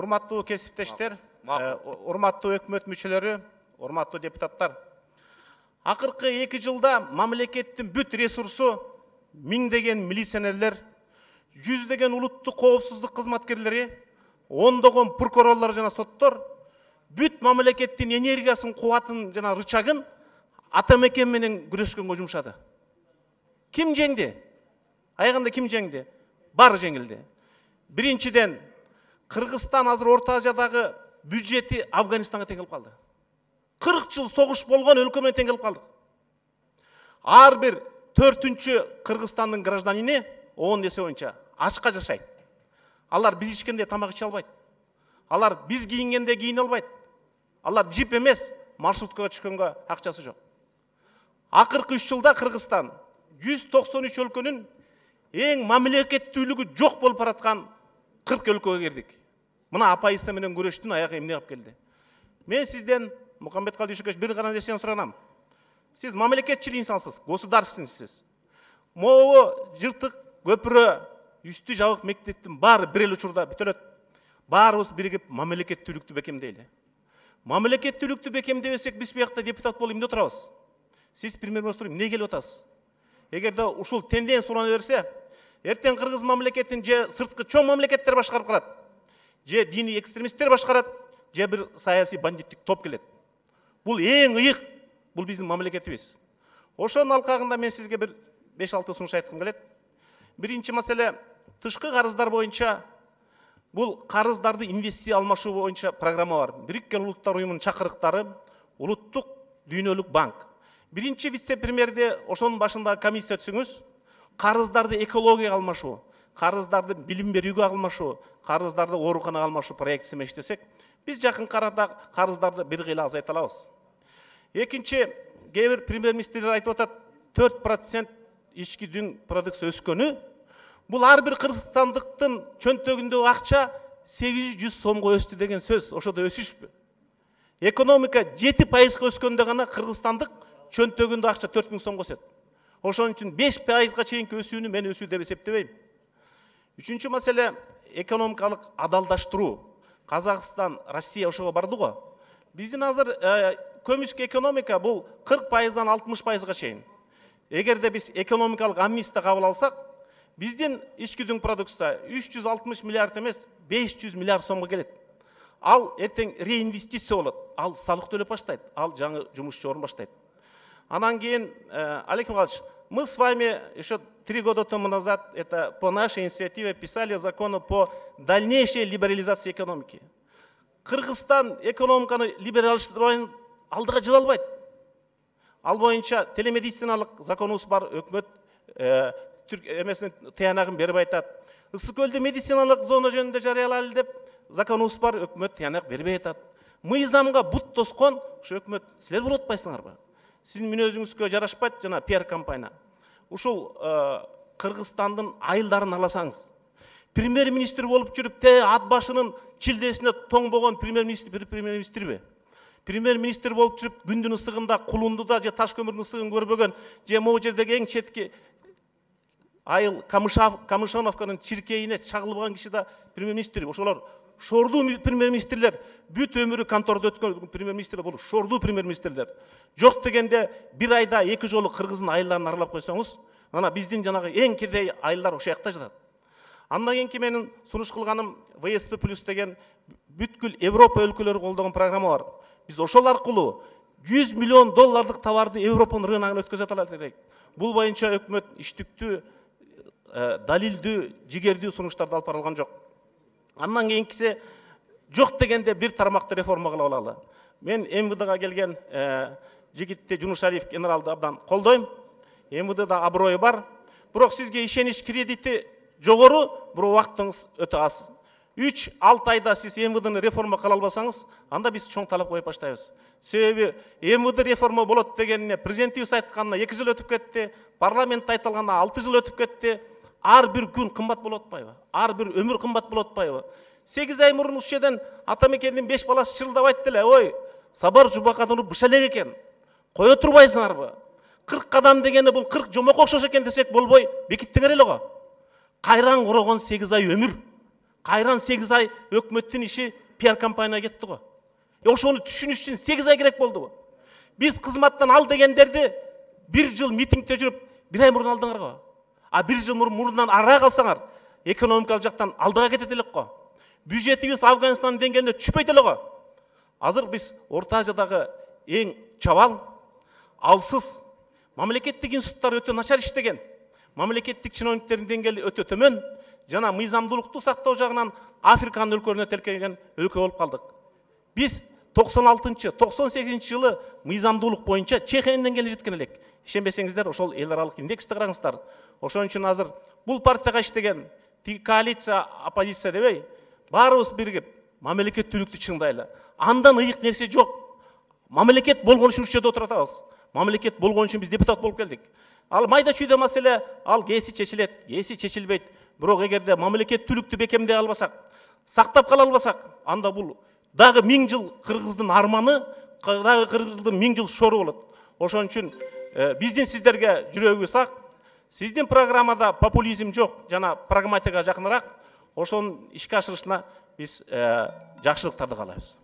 урматтуу кесиптештер, урматтуу өкмөт мүчөлөрү, урматтуу депутаттар. Акыркы 2 жылда мамлекеттин бүт ресурсу миңдеген милиционерлер, жүздеген улуттук коопсуздук кызматкерлери, ондогон прокурорлор жана соттор бүт мамлекеттин энергиясын, кубатын жана рычагын ата мекен менен күрөшкөнгө жумшады. Ким жеңди? Аягында ким жеңди? Баары жеңилди. Биринчиден, Кыргызстан азыр Орто Азиядагы бюджети Афганистанга тең келип калды. 40 жыл согуш болгон өлкө менен тең келип калдык. Ар бир 4-чү Кыргызстандын гражданини ООН эсеби боюнча ачка жашайт. Алар биз ичкенде тамак иче албайт. Алар биз кийингенде кийине албайт. Алар джип эмес, маршруткага түшкөнгө акчасы жок. Акыркы 3 жылда Кыргызстан 193 өлкөнүн эң мамлекеттүүлүгү жок болуп бараткан 40 өлкөгө кирдик. Мына апайысы менен күрөштүн аягы эмне алып келди? Мен сизден, Мухаммедкалый Дүйшөкевич, бир гана нерсени суранам. Сиз мамлекетчил инсансыз, государственниктсиз. Могу жыртык көпүрө, үстү жабык мектептин баары бир эле учурда бүтөлөт. Баарыбыз биригип мамлекеттүүлүктү бекемдейли. Мамлекеттүүлүктү бекемдебесек, биз буякта депутат болуп эмне отурабыз? Сиз премьер-министр эмне келип атасыз? Эгерде ушул тенденция сурана берсе, эртең Кыргыз мамлекетин же сырткы чоң мамлекеттер башкарып калат, же диний экстремисттер башкарат, же бир саясий бандиттик топ келет. Бул эң ыйык, бул биздин мамлекетибиз. Ошонун алкагында мен сизге бир 5-6 сунуш айткым келет. Биринчи маселе, тышкы карыздар боюнча бул карыздарды инвестиция алмашуу боюнча программа бар. Бириккен Улуттар уюмунун чакырыктары, Улуттук дүйнөлүк банк. Биринчи вице-премьерде ошонун башындагы комиссия түзүңүз, карыздарды экологияга алмашуу, карыздарды билим берүүгө алмашуу, карыздарды ооруканага алмашуу проектиси менен иштесек, биз жакын арада карыздарды бир кыйла азайта алабыз. Экинчи, кээ бир премьер-министрлер айтып атат, 4% ички дүң продукция өскөнү, бул ар бир кыргызстандыктын чөнтөгүндөгү акча 800 сомго өстү деген сөз. Ошодо өсүшпү? Экономика 7% өскөндө гана кыргызстандык чөнтөгүндө акча 4000 сомго өсөт. Ошон үчүн 5%га чейинки өсүүнү мен өсүү деп эсептебейм. Үчүнчү маселе, экономикалык адалдаштыруу. Казакстан, Россия ошого барды го. Биздин азыр көмүскө экономика бул 40%-дан 60%га чейин. Эгерде биз экономикалык амнистия кабыл алсак, биздин ички дүң продукция 360 миллиард эмес, 500 миллиард сомго келет. Ал эртең реинвестиция болот. Ал салык төлөп баштайт. Ал жаңы жумушчу орун баштайт. Анан кийин, Олег Михайлович, мы с вами еще 3 года тому назад это по нашей инициативе писали закон по дальнейшей либерализации экономики. Кыргызстан экономиканы либералдашпай алдыга жыла албайт. Ал боюнча телемедициналык законубуз бар, өкмөт эмесинин таянагын берип айтат. Ысык көлдө медициналык зона жөнүндө жарыялайлы деп законубуз бар, өкмөт таянак бербей атат. Мыйзамга бут тоскон ушу өкмөт силер болуп атпайсыңарбы? Сиздин мүнөзүңүзгө жарашпайт жана пиар компания. Ушул Кыргызстандын айылдарын аласаңыз, премьер-министр болуп жүрүп, ат башынын чилдесине тоңбогон премьер-министрби? Премьер-министр болуп жүрүп, күндүн ысыгында, кулундуда же таш көмүрдүн ысыгын көрбөгөн, же могу жердеги эң четки айыл Камышановканын чиркейине чагылбаган киши да премьер-министр. Ошолор шордуу премьер-министрлер, бүт өмүрү контордо өткөн премьер-министрлер болуп, шордуу премьер-министрлер. Жок дегенде бир айда 2 жолу Кыргыздын айылдарын аралап койсоңуз, ана биздин жанагы эң кирдей айылдар ошол жакта жатат. Андан кийинки менин сунуш кылганым ВСП+ деген бүткүл Европа өлкөлөрү колдогон программа бар. Биз ошол аркылуу $100 миллион товарды Европанын рыногуна өткөзө алат элек. Бул боюнча өкмөт иштиктүү, далилдүү, жигердүү сунуштарды алып барылган жок. Андан кийинкиси жок дегенде бир тармакты реформа кылып алалы. Мен МВДга келген жигитти Жунушалиев генералды абдан колдойм. МВДда аброю бар. Бирок сизге ишенич кредити жогору, бирок убактыңыз өтө аз. 3-6 айда сиз МВДны реформа кыла албасаңыз, анда биз чоң талап коюп баштайбыз. Себеби МВД реформа болот дегенине президентибиз айтканына 2 жыл өтүп кетти, парламентте айтылганына 6 жыл өтүп кетти. Ар бир күн кымбат болуп атпайбы? Ар бир өмүр кымбат болуп атпайбы? 8 ай мурун ушул жерден ата мекендин 5 баласы чырылдап айтты эле, ой, Сабар Жубакатовну быша элек экен. Кое турбайсыңарбы? 40 кадам дегени бул 40 жомок окшош экен десек болбой, бекиттиңер эле го. Кайраң корогон 8 ай өмүр. Кайран 8 ай өкмөттүн иши пиар компанияга кетти го. Ошону түшүнүш үчүн 8 ай керек болду. Биз кызматтан ал дегендерди 1 жыл митингде жүрүп 1 ай мурун алдыңар го. А 1 жыл мурундан ара калсаңар, экономикалык жактан алдыга кетет элек го. Бюджетибиз Афганистандын деңгээлине түшпөйт эле го. Азыр биз Орто Азиядагы эң чабал, алсыз, мамлекеттик институттар өтө начар иштеген, мамлекеттик чиновниктердин деңгээли өтө төмөн, жана мыйзамдуулукту сактоо жагынан Африканын өлкөлөрүнө тилкеген өлкө болуп калдык. Биз 96-98 жылы мыйзамдуулук боюнча Чехиянын деңгээлине жеткен элек. Ишенбесеңиздер, ошол эл аралык индексти караңыздар. Ошон үчүн азыр бул партияга иштеген коалиция, оппозиция дебей, баарыбыз биригип мамлекеттүүлүктү чыңдайлы. Андан ыйык нерсе жок. Мамлекет болгон үчүн ушул жерде отуруп атабыз. Мамлекет болгон үчүн биз депутат болуп келдик. Ал майда чүйдө маселе, ал кээси чечилет, кээси чечилбейт. Бирок эгерде мамлекеттүүлүктү бекемдей албасак, сактап кала албасак, анда бул дагы 1000 жыл кыргыздын арманы, дагы кыргыздын 1000 жыл шору болот. Ошон үчүн биздин сиздерге жүрөгүбүз ак. Сиздин программада популизм жок, жана прагматикага жакыныраак. Ошонун ишке ашырышына биз жакшылыктарды каалайбыз.